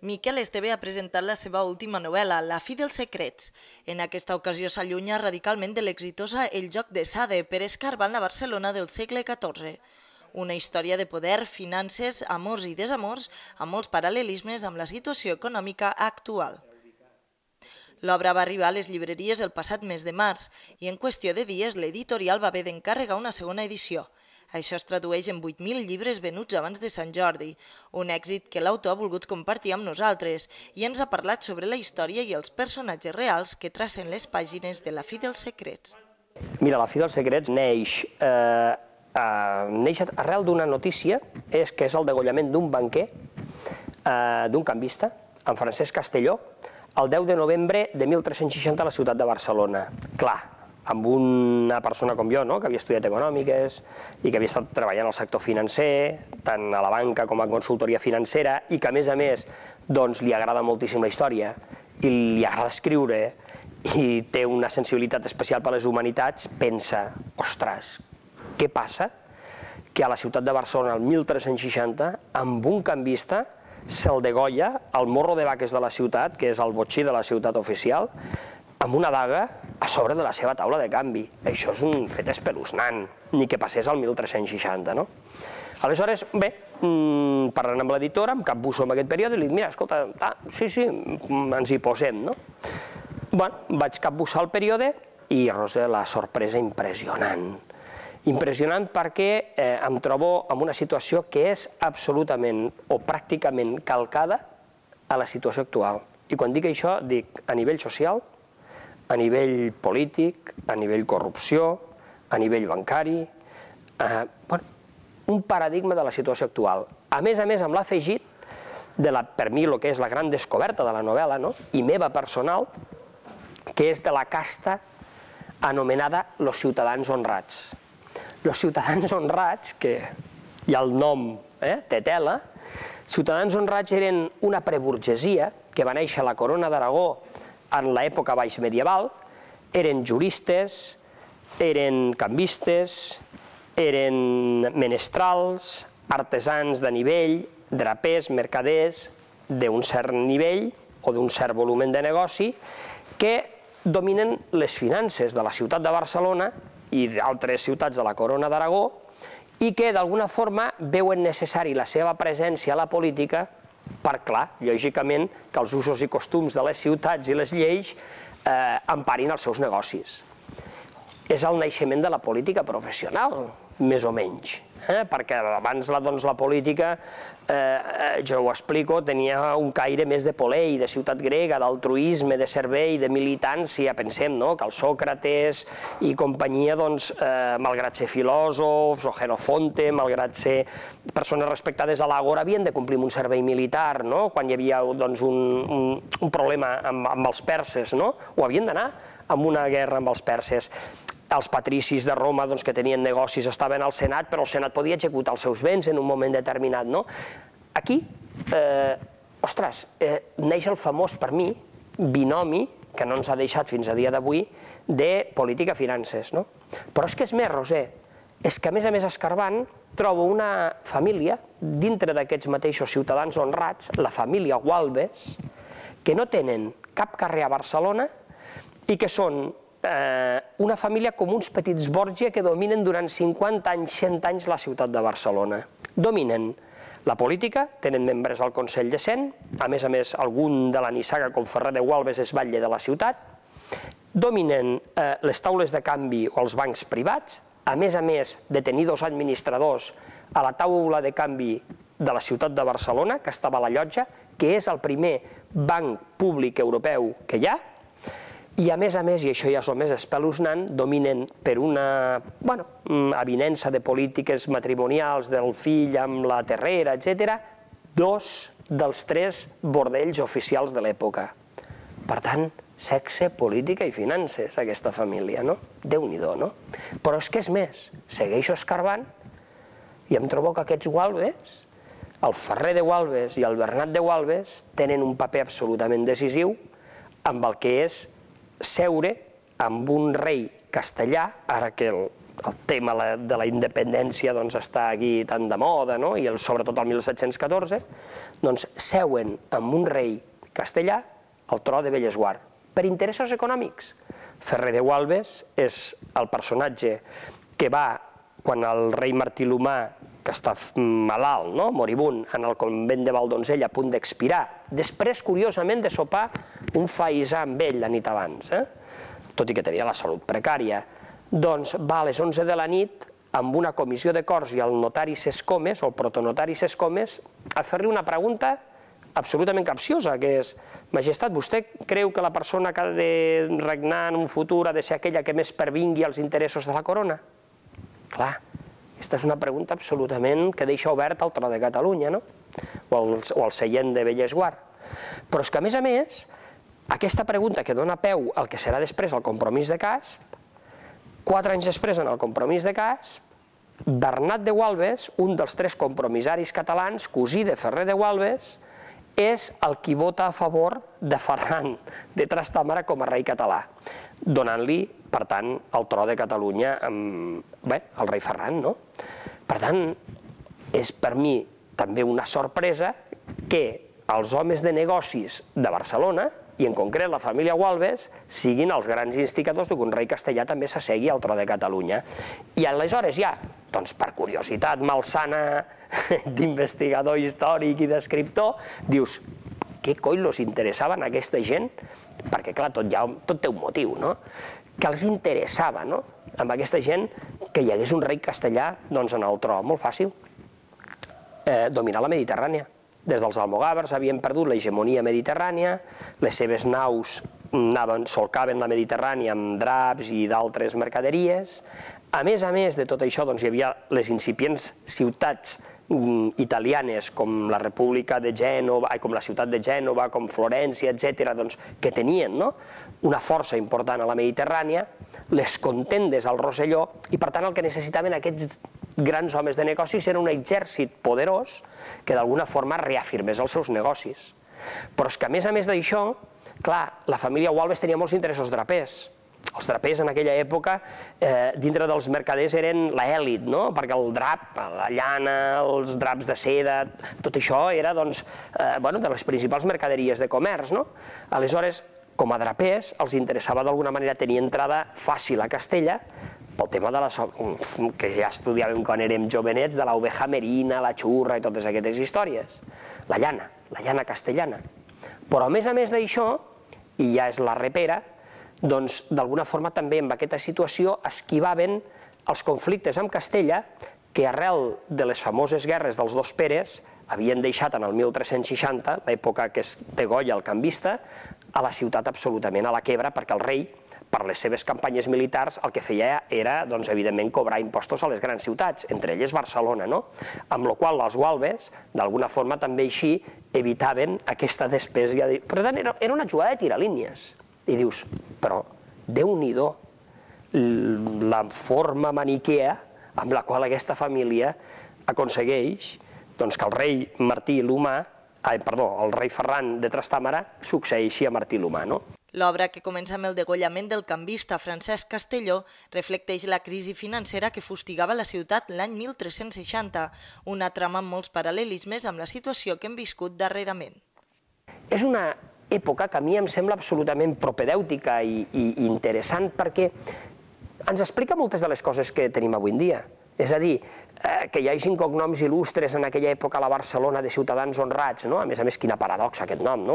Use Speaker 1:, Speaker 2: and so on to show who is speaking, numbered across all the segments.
Speaker 1: Miquel Esteve ha presentat la seva última novel·la, La fi dels secrets. En aquesta ocasió s'allunya radicalment de l'exitosa El joc de Sade per escarbar la Barcelona del segle XIV. Una història de poder, finances, amors i desamors, amb molts paral·lelismes amb la situació econòmica actual. L'obra va arribar a les llibreries el passat mes de març i en qüestió de dies l'editorial va haver d'encarregar una segona edició. Això es tradueix en 8.000 llibres venuts abans de Sant Jordi, un èxit que l'autor ha volgut compartir amb nosaltres i ens ha parlat sobre la història i els personatges reals que tracen les pàgines de La fi dels secrets.
Speaker 2: Mira, La fi dels secrets neix arrel d'una notícia, que és el degollament d'un banquer, d'un canvista, en Francesc Castelló, el 10 de novembre de 1360 a la ciutat de Barcelona. Clar, amb una persona com jo, que havia estudiat econòmiques i que havia estat treballant al sector financer, tant a la banca com a consultoria financera, i que, a més, li agrada moltíssim la història i li agrada escriure i té una sensibilitat especial per les humanitats, pensa, ostres, què passa que a la ciutat de Barcelona, el 1360, amb un canvista, se'l degolla al morro de vaques de la ciutat, que és el botxí de la ciutat oficial, amb una daga a sobre de la seva taula de canvi. Això és un fet espeluznant, ni que passés al 1360, no? Aleshores, bé, parlant amb l'editora, em capbusso en aquest període i li dic, mira, escolta, sí, ens hi posem, no? Bueno, vaig capbussar el període i, Roser, la sorpresa impressionant. Impressionant perquè em trobo en una situació que és absolutament o pràcticament calcada a la situació actual. I quan dic això, dic a nivell social, a nivell polític, a nivell corrupció, a nivell bancari, un paradigma de la situació actual. A més, amb l'afegit de, per mi, el que és la gran descoberta de la novel·la, i meva personal, que és de la casta anomenada los ciutadans honrats. Los ciutadans honrats, que hi ha el nom, té tela, ciutadans honrats eren una preburgesia que va néixer a la Corona d'Aragó en l'època baix medieval, eren juristes, eren canvistes, eren menestrals, artesans de nivell, drapers, mercaders, d'un cert nivell o d'un cert volum de negoci, que dominen les finances de la ciutat de Barcelona i d'altres ciutats de la Corona d'Aragó i que d'alguna forma veuen necessari la seva presència a la política per, clar, lògicament, que els usos i costums de les ciutats i les lleis emparin els seus negocis. És el naixement de la política professional, més o menys, perquè abans la política, jo ho explico, tenia un caire més de polei, de ciutat grega, d'altruisme, de servei, de militància. Pensem que el Sòcrates i companyia, malgrat ser filòsofs o Jenofonte, malgrat ser persones respectades a l'Àgora, havien de complir un servei militar, quan hi havia un problema amb els perses, o havien d'anar a una guerra amb els perses. Els patricis de Roma, que tenien negocis, estaven al Senat, però el Senat podia executar els seus béns en un moment determinat. Aquí, ostres, neix el famós, per mi, binomi, que no ens ha deixat fins a dia d'avui, de política-finances. Però és que és més, Roser, és que a més escarbant, trobo una família, dintre d'aquests mateixos ciutadans honrats, la família Gualbes, que no tenen cap carrer a Barcelona i que són una família com uns petits Borgia que dominen durant 50 anys, 100 anys la ciutat de Barcelona. Dominen la política, tenen membres al Consell de Cent, a més, algun de la nissaga com Ferrer de Gualbes és batlle de la ciutat, dominen les taules de canvi o els bancs privats, a més, de tenir dos administradors a la taula de canvi de la ciutat de Barcelona, que estava a la Llotja, que és el primer banc públic europeu que hi ha, i a més, i això ja és el més espeluznant, dominen per una avinença de polítiques matrimonials del fill amb la terrera, etc., 2 dels 3 bordells oficials de l'època. Per tant, sexe, política i finances, aquesta família, no? Déu-n'hi-do, no? Però és que és més, segueixo escarbant i em trobo que aquests Gualbes, el Ferrer de Gualbes i el Bernat de Gualbes, tenen un paper absolutament decisiu amb el que és seure amb un rei castellà, ara que el el tema de la independència està aquí tan de moda, i sobretot el 1714, doncs seuen amb un rei castellà al tro de Bellesguard, per interessos econòmics. Ferrer de Gualbes és el personatge que va, quan el rei Martí l'Humà, que està malalt, moribund, en el convent de Valdoncell, a punt d'expirar, després, curiosament, de sopar un faisà amb ell la nit abans, tot i que tenia la salut precària, doncs va a les 11 de la nit amb una comissió de corts i el notari Sescomes, o el protonotari Sescomes, a fer-li una pregunta absolutament capciosa, que és: Majestat, vostè creu que la persona que ha de regnar en un futur ha de ser aquella que més pervingui als interessos de la corona? Clar, aquesta és una pregunta absolutament que deixa obert el tro de Catalunya, o el seient de Bellesguard. Però és que, a més, aquesta pregunta que dona peu al que serà després el compromís de Casp, 4 anys després, en el compromís de Casp, Bernat de Gualbes, un dels 3 compromissaris catalans, cosí de Ferrer de Gualbes, és el qui vota a favor de Ferran de Trastàmara com a rei català, donant-li, per tant, el tro de Catalunya al rei Ferran. Per tant, és per mi també una sorpresa que els homes de negocis de Barcelona, i en concret la família Gualbes, siguin els grans instigadors que un rei castellà també s'assegui al tro de Catalunya. I aleshores ja, doncs per curiositat malsana d'investigador històric i d'escriptor, dius, què coi els interessava a aquesta gent? Perquè, clar, tot té un motiu, no? Que els interessava, no?, amb aquesta gent que hi hagués un rei castellà en el tro. Molt fàcil. Dominar la Mediterrània. Des dels almogàvers havien perdut l'hegemonia mediterrània, les seves naus solcaven la Mediterrània amb draps i d'altres mercaderies. A més de tot això, hi havia les incipients ciutats italianes com la República de Gènova, com la ciutat de Gènova, com Florència, etc., que tenien una força important a la Mediterrània, les contendes al Rosselló, i per tant el que necessitaven aquests grans homes de negocis era un exèrcit poderós que d'alguna forma reafirmés els seus negocis. Però és que a més d'això, clar, la família Gualbes tenia molts interessos drapers. Els drapers en aquella època, dintre dels mercaders, eren l'èlit, perquè el drap, la llana, els draps de seda, tot això era de les principals mercaderies de comerç. Aleshores, com a drapers, els interessava d'alguna manera tenir entrada fàcil a Castella, pel tema que ja estudiàvem quan érem jovenets, de l'oveja merina, la xurra i totes aquestes històries. La llana castellana. Però a més d'això, i ja és la repera, doncs d'alguna forma també en aquesta situació esquivaven els conflictes amb Castella que arrel de les famoses guerres dels dos Peres havien deixat en el 1360, l'època que es degolla el canvista, a la ciutat absolutament a la quebra, perquè el rei, per les seves campanyes militars, el que feia era, evidentment, cobrar impostos a les grans ciutats, entre elles Barcelona, amb la qual els Gualbes, d'alguna forma, també així evitaven aquesta despesa. Per tant, era una jugada de tiralínies. I dius, però Déu-n'hi-do la forma maniquea amb la qual aquesta família aconsegueix que el rei Martí l'Humà, el rei Ferran de Trastàmara, succeeixi a Martí l'Humà.
Speaker 1: L'obra, que comença amb el degollament del canvista Francesc Castelló, reflecteix la crisi financera que fustigava la ciutat l'any 1360, una trama amb molts paral·lelismes amb la situació que hem viscut darrerament.
Speaker 2: És una època que a mi em sembla absolutament propedèutica i interessant perquè ens explica moltes de les coses que tenim avui en dia. És a dir, que hi hagi cognoms il·lustres en aquella època a la Barcelona de ciutadans honrats, a més, quina paradoxa aquest nom,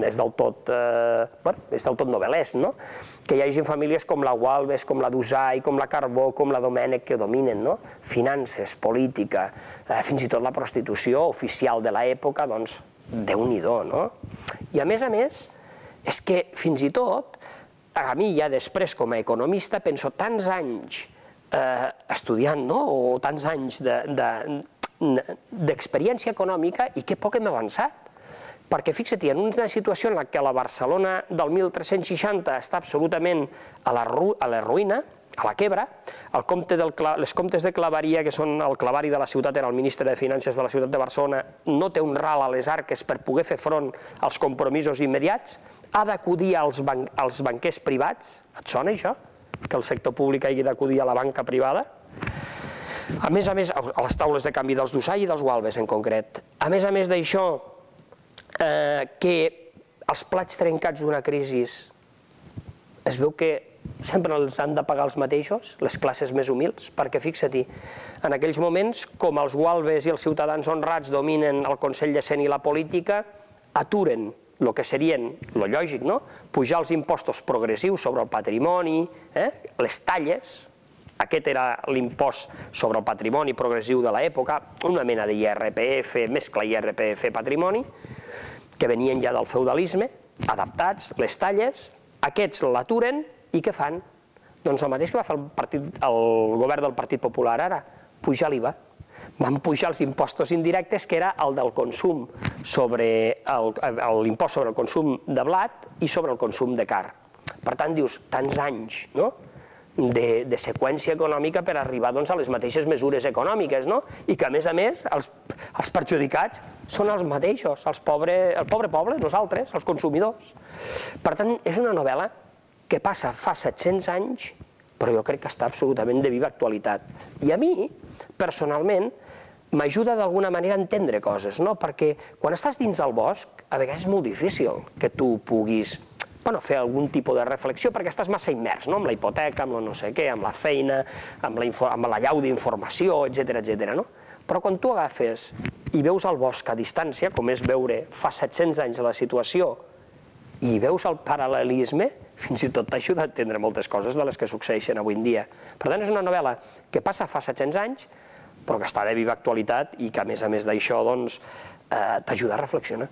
Speaker 2: és del tot novel·lesc, que hi hagi famílies com la Gualbes, com la Dusai, com la Carbó, com la Domènech, que dominen finances, política, fins i tot la prostitució oficial de l'època, doncs, Déu-n'hi-do, no? I a més, és que fins i tot, a mi ja després com a economista penso tants anys estudiant, o tants anys d'experiència econòmica i que poc hem avançat. Perquè fixa't, en una situació en què la Barcelona del 1360 està absolutament a la ruïna, a la quebra, les comtes de Claveria, que són el clavari de la ciutat, era el ministre de Finances de la ciutat de Barcelona, no té un ral a les arques per poder fer front als compromisos immediats, ha d'acudir als banquers privats, et sona això? que el sector públic hagi d'acudir a la banca privada. A més, a les taules de canvi dels Dusai i dels Gualbes en concret. A més d'això, que els plats trencats d'una crisi es veu que sempre els han de pagar els mateixos, les classes més humils, perquè fixa-t'hi, en aquells moments, com els Gualbes i els ciutadans honrats dominen el Consell de Cent i la política, aturen el que serien, el lògic, pujar els impostos progressius sobre el patrimoni, les talles, aquest era l'impost sobre el patrimoni progressiu de l'època, una mena d'IRPF, mescla IRPF patrimoni, que venien ja del feudalisme, adaptats, les talles, aquests l'aturen i què fan? Doncs el mateix que va fer el govern del Partit Popular ara, pujar l'IVA. Van pujar els impostos indirectes, que era el del consum, l'impost sobre el consum de blat i sobre el consum de carn. Per tant, dius, tants anys de seqüència econòmica per arribar a les mateixes mesures econòmiques, i que, a més, els perjudicats són els mateixos, el pobre poble, nosaltres, els consumidors. Per tant, és una novel·la que passa fa 700 anys, però jo crec que està absolutament de viva actualitat. I a mi, personalment, m'ajuda d'alguna manera a entendre coses, perquè quan estàs dins del bosc, a vegades és molt difícil que tu puguis fer algun tipus de reflexió, perquè estàs massa immers, amb la hipoteca, amb el no sé què, amb la feina, amb la llau d'informació, etcètera. Però quan tu agafes i veus el bosc a distància, com és veure fa 700 anys la situació, i veus el paral·lelisme, fins i tot t'ajuda a entendre moltes coses de les que succeeixen avui en dia. Per tant, és una novel·la que passa fa 700 anys, però que està de viva actualitat i que, a més d'això, t'ajuda a reflexionar.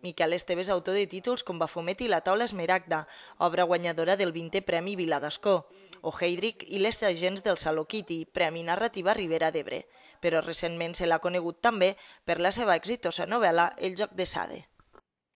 Speaker 1: Miquel Esteve és autor de títols com Baphomet i la taula Esmeralda, obra guanyadora del 20è Premi Vila d'Ascó, o Heydrich i les agents del Saló Kitty, Premi Narrativa Ribera d'Ebre, però recentment se l'ha conegut també per la seva exitosa novel·la El joc de Sade.